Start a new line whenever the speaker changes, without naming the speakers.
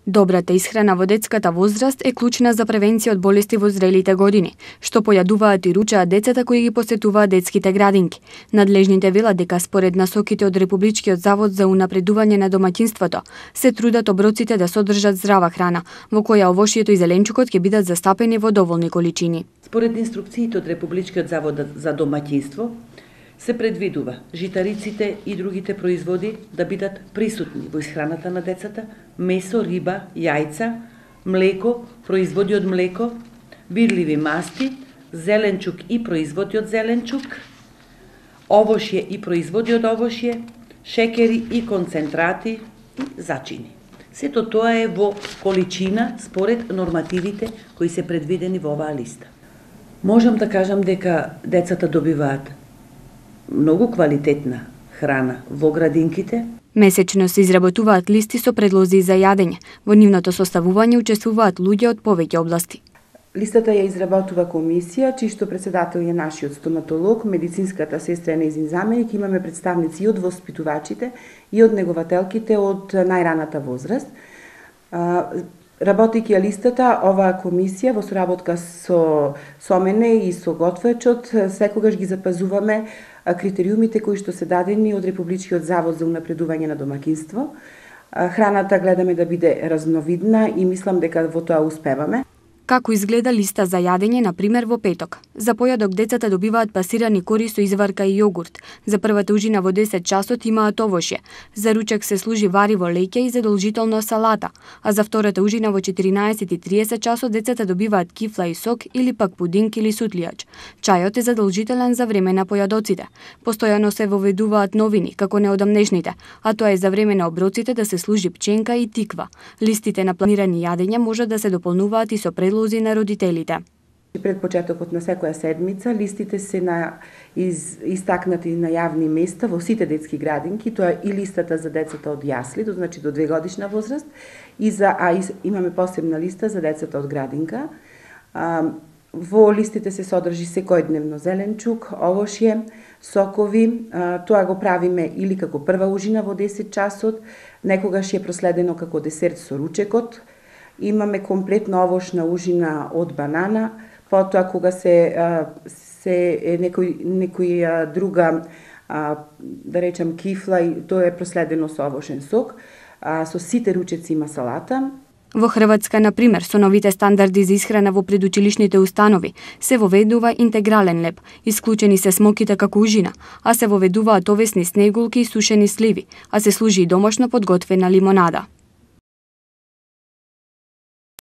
Добрата исхрана во детската возраст е клучна за превенција од болести во зрелите години, што појадуваат и ручаат децата кои ги посетуваат детските градинки. Надлежните велат дека според насоките од Републичкиот завод за унапредување на домаќинството, се трудат оброците да содржат здрава храна, во која овошјето и зеленчукот ќе бидат застапени во доволни количини.
Според инструкциите од Републичкиот завод за домаќинство, се предвидува житариците и другите производи да бидат присутни во исхраната на децата, месо, риба, јајца, млеко, производи од млеко, бирливи масти, зеленчук и производи од зеленчук, овошје и производи од овошје, шекери и концентрати и зачини. Сето тоа е во количина според нормативите кои се предвидени во оваа листа. Можам да кажам дека децата добиваат многу квалитетна храна во градинките.
Месечно се изработуваат листи со предлози за јадење. Во нивното составување учествуваат луѓе од повеќе области.
Листата ја изработува комисија, чишто председател е нашиот стоматолог, медицинската сестра е нејзин заменик, имаме представници и од воспитувачите и од негователките од најраната возраст. Работејќи ја листата, оваа комисија во соработка со мене и со готвечот секогаш ги запазуваме критериумите кои што се дадени од Републичкиот завод за унапредување на домаќинство. Храната гледаме да биде разновидна и мислам дека во тоа успеваме.
Како изгледа листа за јадење, на пример, во петок? За појадок децата добиваат пасирани кори со изварка и јогурт. За првата ужина во 10 часот имаат овошје. За ручек се служи вариво леќе и задолжително салата, а за втората ужина во 14:30 часот децата добиваат кифла и сок или пак пудинг или сутлијач. Чајот е задолжителен за време на појадоците. Постојано се воведуваат новини, како неодамнешните, а тоа е за време на оброците да се служи пченка и тиква. Листите на планирани јадења може да се дополнуваат и со предлози на родителите.
Пред почетокот на секоја седмица листите се истакнати на јавни места во сите детски градинки, тоа е и листата за децата од јасли, значи до 2 годишна возраст, имаме посебна листа за децата од градинка. Во листите се содржи секојдневно зеленчук, овошје, сокови, тоа го правиме или како прва ужина во 10 часот, некогаш е проследено како десерт со ручекот. Имаме комплетна овошна ужина од банана, потоа кога се некој друга, да речам кифла, тоа е проследено со овошен сок, со сите ручеци има салата.
Во Хрватска, на пример, со новите стандарди за исхрана во предучилишните установи, се воведува интегрален леб, исклучени се смоките како ужина, а се воведуваат овесни снегулки и сушени сливи, а се служи и домашно подготвена лимонада.